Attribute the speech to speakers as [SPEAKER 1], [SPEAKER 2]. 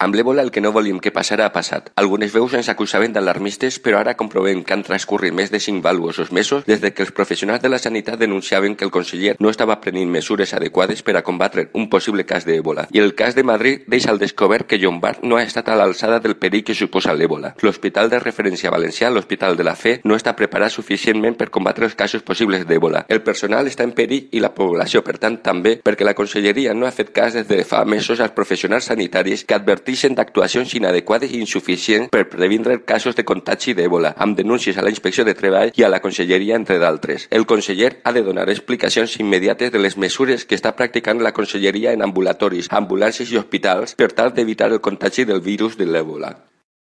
[SPEAKER 1] Amb l'èbola el que no volíem que passara ha passat. Algunes veus ens acusaven d'alarmistes, però ara comprovem que han transcorrit més de 5 valuosos mesos des que els professionals de la sanitat denunciaven que el conseller no estava prenent mesures adequades per a combatre un possible cas d'èbola. I el cas de Madrid deixa al descobert que Llombart no ha estat a l'alçada del perill que suposa l'èbola. L'Hospital de Referència Valencià, l'Hospital de la Fe, no està preparat suficientment per combatre els casos possibles d'èbola. El personal està en perill i la població, per tant, també, perquè la Conselleria no ha fet cas des de fa mesos als professionals sanitaris que adverteixen d'actuacions inadequades i insuficients per previndre casos de contagi d'èbola, amb denúncies a la Inspecció de Treball i a la Conselleria, entre d'altres. El conseller ha de donar explicacions immediates de les mesures que està practicant la Conselleria en ambulatoris, ambulàncies i hospitals per tal d'evitar el contagi del virus de l'èbola.